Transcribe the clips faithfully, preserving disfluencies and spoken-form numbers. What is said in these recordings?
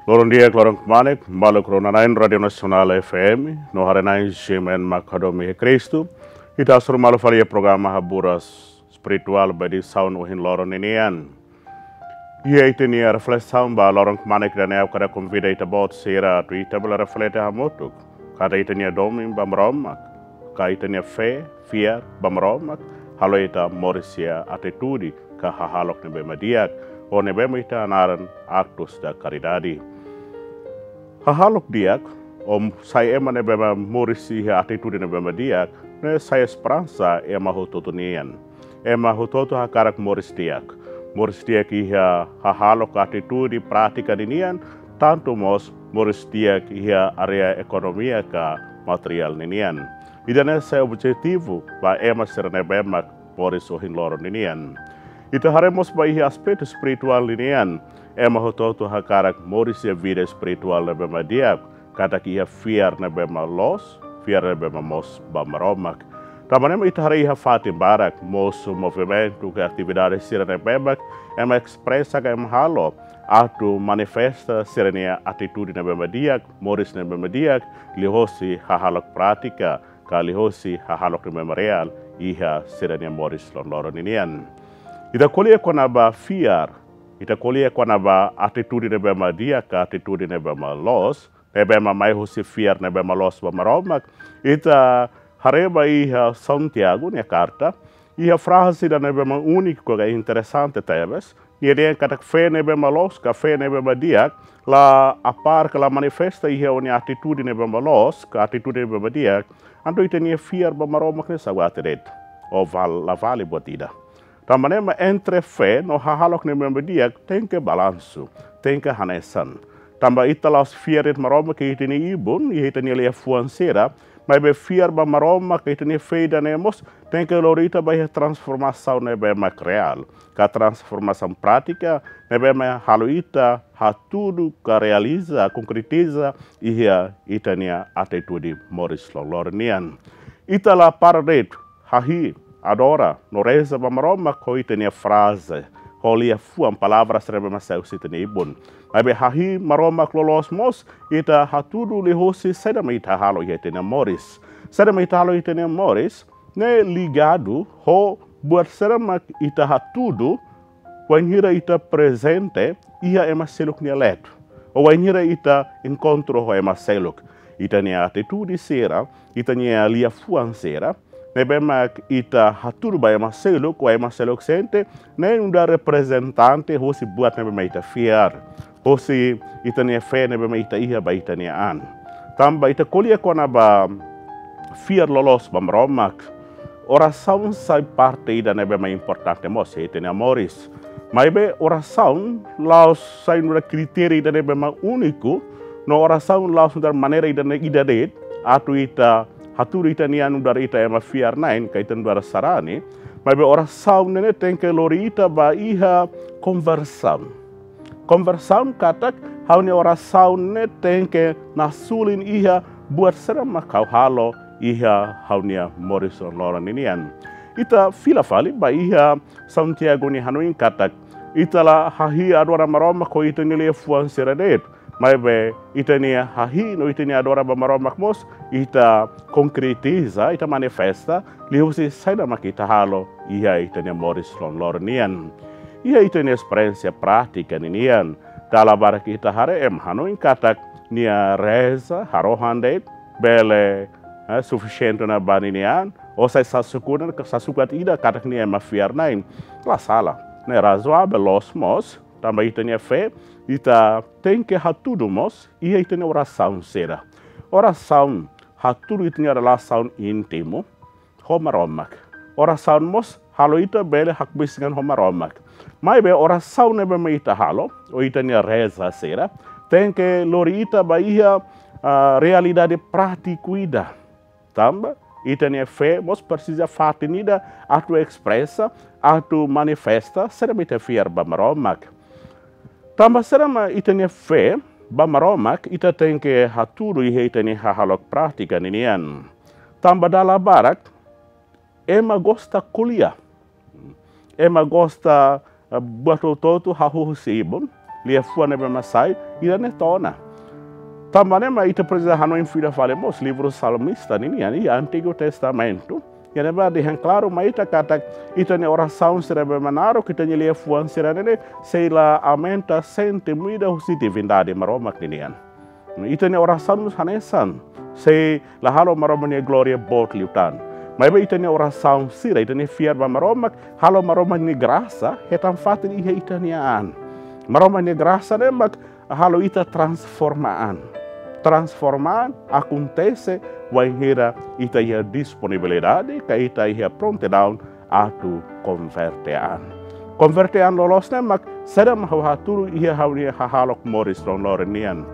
Loron di'ak, loron kmanek, maluk rona-na'in Rádiu Nasionál F M, no haree-na'in G M N mak hadomi iha Kristu, ita hasoru malu fali iha programa Haburas Espirituál ba edisaun ohin loron ninian. Iha ita-nia reflesaun ba loron kmanek ida-ne'e ha'u hakarak konvida ita-boot sira atu ita bele reflete hamutuk. Katak ita-nia domin ba Maromak, ka ita-nia fé, fiar ba Maromak, halo ita moris iha atitude ka hahalok ne'ebé mak di'ak, ou ne'ebé mak ita hanaran actos da caridade. Hahalok di'ak, ou sai ema ne'ebé mak moris iha atitude ne'ebé mak di'ak, ne'e sai esperansa ema hotu-hotu nian. Ema hotu-hotu hakarak moris di'ak. Moris di'ak iha hahalok, atitude, prátika ninian, tantu mós moris di'ak iha área ekonomia ka materiál ninian. Ida-ne'e sai objetivu ba ema sira ne'ebé mak moris ohin loron ninian. Ita haree mós ba iha aspetu espirituál ninian, ema hotu-hotu hakarak moris iha vida espirituál ne'ebé mak di'ak, katak iha fiar ne'ebé mak loos, fiar ne'ebé mak moos ba Maromak. Tanba ne'e mak ita haree iha fatin barak, mosu movimentu ka atividade sira ne'ebé mak ema espresa ka ema halo atu manifesta sira-nia atitude ne'ebé mak di'ak, moris ne'ebé mak di'ak, liuhosi hahalok prátika ka liuhosi hahalok ne'ebé mak reál iha sira-nia moris loroloron ninian. Ita ko'alia kona-ba fiar, ita ko'alia kona-ba atitude ne'ebé mak di'ak ka atitude ne'ebé mak loos, ne'ebé mak mai husi fiar ne'ebé mak loos ba Maromak. Ita haree ba iha Santiago nia karta, iha fraze ida ne'ebé mak úniku ka interesante tebes. Nia dehan katak fé ne'ebé mak loos ka fé ne'ebé mak di'ak la apár ka la manifesta iha ó-nia atitude ne'ebé mak loos ka atitude ne'ebé mak di'ak, entaun ita-nia fiar ba Maromak ne'e sawate de'it, ou val-, la vale buat ida. Tanba ne'e mak entre fé no hahalok ne'ebé mak di'ak tenke balansu, tenke hanesan. Tanba ita la'ós fiar de'it Maromak iha ita-nia ibun, iha ita-nia liafuan sira, maibé fiar ba Maromak iha ita-nia fé ida-ne'e mós tenke lori ita ba iha transformasaun ne'ebé mak reál, ka transformasaun prátika ne'ebé mak halo ita hatudu ka realiza, konkretiza iha ita-nia atitude moris loroloron nian. Ita la para de'it hahi'i, adora no reza ba Maromak ho ita-nia fraze, ho liafuan, palavras ne'ebé mak sai husi ita-nia ibun. Maibé hahi'i Maromak loloos mós ita hatudu liuhosi saida mak ita halo iha ita-nia moris. Saida mak ita halo iha ita-nia moris ne'e ligadu ho buat saida mak ita hatudu wainhira ita prezente iha ema seluk nia leet, ou wainhira ita enkontru ho ema seluk. Ita-nia atitude sira, ita-nia liafuan sira ne'ebé mak ita hatudu ba ema seluk, ou ema seluk sente, ne'e nu'udar reprezentante husi buat ne'ebé mak ita fiar, husi ita-nia fé ne'ebé mak ita iha ba ita-nia an. Tanba ita ko'alia kona-ba fiar loloos ba Maromak, orasaun sai parte ida ne'ebé mak importante mós iha ita-nia moris. Maibé orasaun la'ós sai nu'udar kritéria ida ne'ebé mak úniku, no orasaun la'ós nu'udar maneira ida-ne'e ida de'it atu ita hatudu ita-nia an nu'udar ita ema fiar-na'in ka ita nu'udar sarani. Maibé orasaun ne'e tenke lori ita ba iha konversaun. Konversaun katak ha'u-nia orasaun ne'e tenke nasulin iha buat saida mak ha'u halo iha ha'u-nia moris loroloron ninian. Ita fila fali ba iha Santiago nia hanoin katak ita la hahi'i, adora Maromak ho ita-nia liafuan sira de'it, maibé ita-nia hahi'i no ita-nia adora ba Maromak mós ita konkretiza, ita manifesta liuhusi saida mak ita halo iha ita-nia moris loroloron nian. Iha ita-nia esperiénsia prátika ninian, dala barak ita haree ema hanoin katak nia reza harohan de'it bele, eh, sufisiente ona ba ninia an, ou sai sasuku ona, sasukat ida katak nia ema fiar-na'in. La sala, ne'e razoavel, loos mós, tanba ita-nia fé, ita tenke hatudu mós iha ita-nia orasaun sira. Orasaun hatudu ita-nia relasaun íntimu ho Maromak. Orasaun mós halo ita bele hakbesik an ho Maromak. Maibé orasaun ne'ebé mak ita halo, ou ita-nia reza sira, tenke lori ita ba iha, ah, realidade prátiku ida. Tanba ita-nia fé mós presiza fatin ida atu espresa, atu manifesta saida mak ita fiar ba Maromak. Tanba saida mak ita-nia fé ba Maromak, ita tenke hatudu iha ita-nia hahalok prátika ninian. Tanba dala barak ema gosta ko'alia. Ema gosta, eh, buat hotu-hotu hahú husi ibun. liafuan ne'ebé mak sai, ida-ne'e to'o ona. Tanba ne'e mak ita presiza hanoin fila fali mós livru Salmista ninian iha Antigu Testamentu. Iha ne'ebá dehan klaru mai ita katak ita-nia orasaun sira ne'ebé mak naruk, ita-nia liafuan sira-ne'e sei la aumenta sentimu ida husi divindade Maromak ninian. Ita-nia orasaun mós hanesan, sei la halo Maromak nia glória boot liután. Maibé ita-nia orasaun sira, ita-nia fiar ba Maromak, halo Maromak nia grasa hetan fatin iha ita-nia an. Maromak nia grasa ne'e mak halo ita transforma an. Transforma an akontese wainhira ita iha disponibilidade, ka ita iha prontidaun atu konverte an. Konverte an loloos ne'e mak saida mak ha'u hatudu iha ha'u-nia hahalok moris loroloron nian.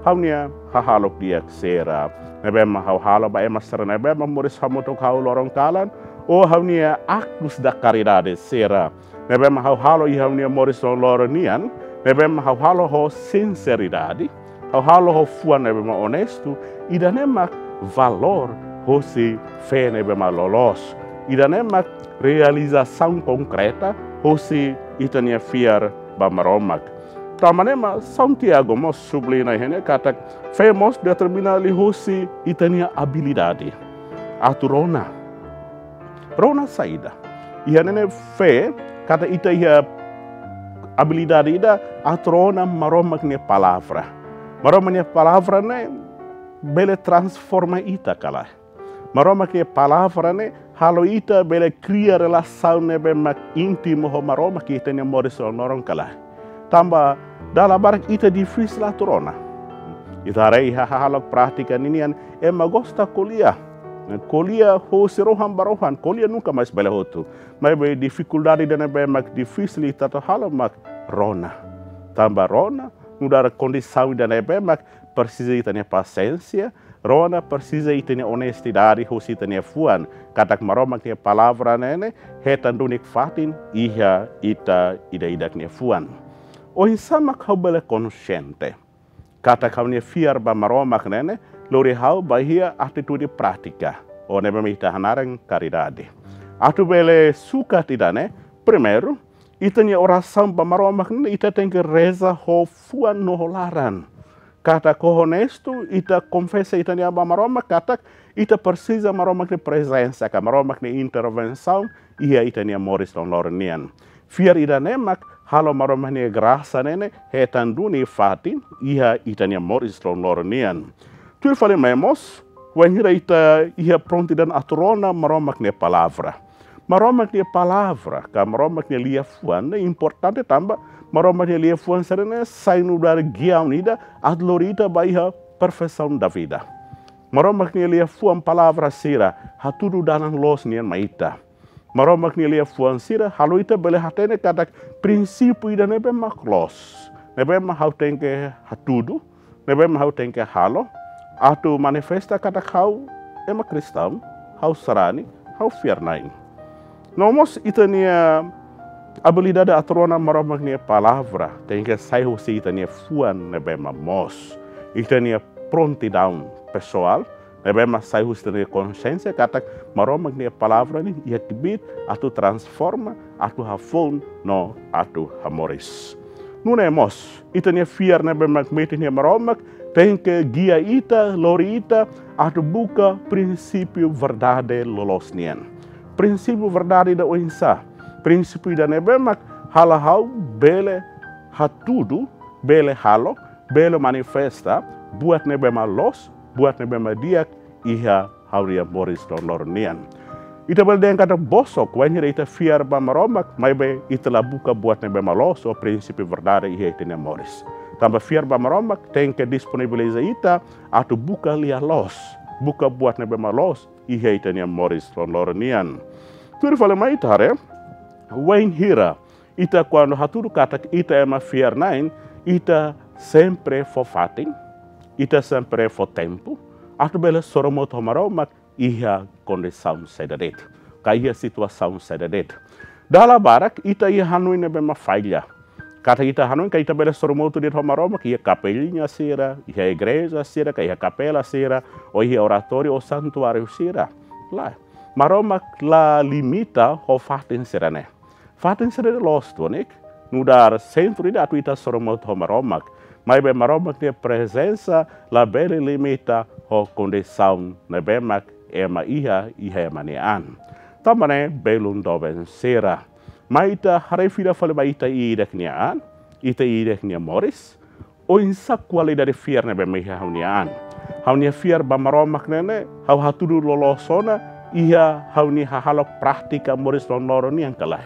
Ha'u-nia hahalok di'ak sira ne'ebé mak ha'u halo ba ema sira ne'ebé mak moris hamutuk ho ha'u loron kalan, ou ha'u-nia aktus da karidade sira ne'ebé mak ha'u halo iha ha'u-nia moris loroloron nian, ne'ebé mak ha'u halo ho sinseridade, ha'u halo ho fuan ne'ebé mak onestu, ida-ne'e mak valór husi fé ne'ebé mak loloos. Ida-ne'e mak realizasaun konkreta husi ita-nia fiar ba Maromak. Tanba ne'e mak Santiago mós subliña iha ne'e katak fé mós determina liuhusi ita-nia abilidade atu rona. Rona saida? Iha ne'e fé, katak ita iha abilidade ida atu rona Maromak nia palavra. Maromak nia palavra ne'e bele transforma ita ka lae. Maromak nia palavra ne'e halo ita bele kria relasaun ne'ebé mak íntimu ho Maromak iha ita-nia moris loroloron ka lae. Tanba dala barak ita difisil atu rona. Ita haree iha hahalok prátika ninian, ema gosta ko'alia. Ko'alia husi rohan ba rohan, ko'alia nunka mais bele hotu. Maibé difikuldade ida ne'ebé mak difisil ita atu halo mak rona. Tanba rona nu'udar kondisaun ida ne'ebé mak presiza ita-nia pasiénsia, rona presiza ita-nia onestidade husi ita-nia fuan, katak Maromak nia palavra ne'e hetan duni fatin iha ita ida-idak nia fuan. Oinsá mak ha'u bele konsiente katak ha'u-nia fiar ba Maromak ne'e lori ha'u ba iha atitude prátika, ou ne'ebé mak ita hanaran karidade. Atu bele sukat ida-ne'e, primeiru, ita-nia orasaun ba Maromak ne'e ita tenke reza ho fuan no ho laran. Katak ho onestu, ita konfesa ita-nia an ba Maromak, katak ita presiza Maromak nia prezensa, ka Maromak nia intervensaun iha ita-nia moris loroloron nian. Fiar ida-ne'e mak halo Maromak nia grasa ne'e hetan duni fatin iha ita-nia moris loroloron nian. Tuir fali mai mós, wainhira ita iha prontidaun atu rona Maromak nia palavra. Maromak nia palavra, ka Maromak nia liafuan ne'e importante tanba Maromak nia liafuan sira-ne'e sai nu'udar giaun ida atu lori ita ba iha perfeisaun da vida. Maromak nia liafuan, palavra sira hatudu dalan loos nian mai ita. Maromak nia liafuan sira halo ita bele hatene katak prinsípiu ida ne'ebé mak loos, ne'ebé mak ha'u tenke hatudu, ne'ebé mak ha'u tenke halo atu manifesta katak ha'u ema kristaun, ha'u sarani, ha'u fiar-na'in. No mós ita-nia abilidade atu rona Maromak nia palavra tenke sai husi ita-nia fuan ne'ebé mak moos. Ita-nia prontidaun pesoál ne'ebé mak sai husi ita-nia konsiénsia katak Maromak nia palavra ne'e iha kbiit atu transforma, atu hafoun no atu hamoris. Nune'e mós, ita-nia fiar ne'ebé mak metin iha Maromak tenke gia ita, lori ita atu buka prinsípiu verdade loloos nian. Prinsípiu verdade ida oinsá? Prinsípiu ida ne'ebé mak halo ha'u bele hatudu, bele halo, bele manifesta buat ne'ebé mak loos, buat ne'ebé mak di'ak iha ha'u-nia moris loroloron nian. Ita bele dehan katak bosok wainhira ita fiar ba Maromak, maibé ita la buka buat ne'ebé mak loos ou prinsípiu verdade iha ita-nia moris. Tanba fiar ba Maromak tenke disponibiliza ita atu buka lia-loos, buka buat ne'ebé mak loos iha ita-nia moris loroloron nian. Tuir fali mai ita haree, wainhira ita kuandu hatudu katak ita ema fiar-na'in, ita sempre fó fatin, ita sempre fó tempu atu bele sorumutu ho Maromak iha kondisaun saida de'it, ka iha situasaun saida de'it. Dala barak ita iha hanoin ne'ebé mak falla. Katak ita hanoin katak ita bele sorumutu de'it ho Maromak iha kapeliña sira, iha igreja sira, ka iha kapela sira, ou iha oratóriu ou santuáriu sira. Lae, Maromak la limita ho fatin sira-ne'e. Fatin sira-ne'e loos duni, nu'udar sentru ida atu ita sorumutu ho Maromak. Maibé Maromak nia prezensa labele limita ho kondisaun ne'ebé mak ema iha, iha ema nia an. Tanba ne'e belun doben sira, mai ita haree fila fali ba ita ida-idak nia an, ita ida-idak nia moris. Oinsá kualidade fiar ne'ebé mak iha ha'u-nia an? Ha'u-nia fiar ba Maromak ne'e, ha'u hatudu loloos ona iha ha'u-nia hahalok prátika moris loroloron nian ka lae?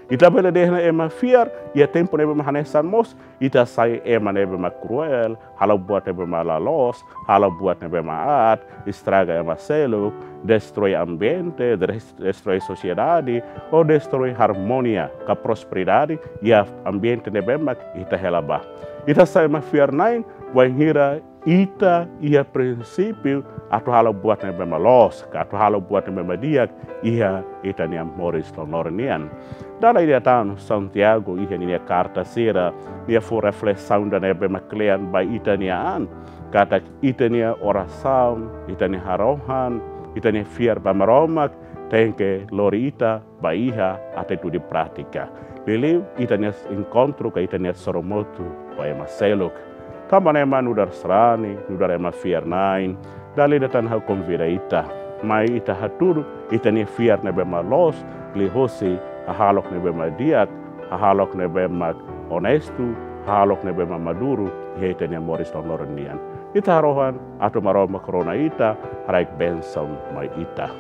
Ita bele dehan ema fiar iha tempu ne'ebé mak hanesan mós, ita sai ema ne'ebé mak kruel, halo buat ne'ebé mak la loos, halo buat ne'ebé mak aat, estraga ema seluk, destroi ambiente, des-, destroi sosiedade, ou destroi armonia ka prosperidade iha ambiente ne'ebé mak ita hela ba. Ita sai ema fiar-na'in wainhira ita iha prinsípiu atu halo buat ne'ebé mak loos, ka atu halo buat ne'ebé mak di'ak iha ita-nia moris loroloron nian. Dala ida tan Santiago iha ninia karta sira, nia fó reflesaun ida ne'ebé mak kle'an ba ita-nia an, katak ita-nia orasaun, ita-nia harohan, ita-nia fiar ba Maromak, tenke lori ita ba iha atitude prátika. Liuliu ita-nia enkontru ka ita-nia sorumutu ho ema seluk. Tanba ne'e ema nu'udar sarani, nu'udar ema fiar-na'in, dala ida tan ha'u konvida ita. Mai ita hatudu ita-nia fiar ne'ebé mak loos, liuhosi hahalok ne'ebé mak di'ak, hahalok ne'ebé mak onestu, hahalok ne'ebé mak maduru iha ita-nia moris loroloron nian. Ita harohan atu Maromak rona ita, haraik bensaun mai ita.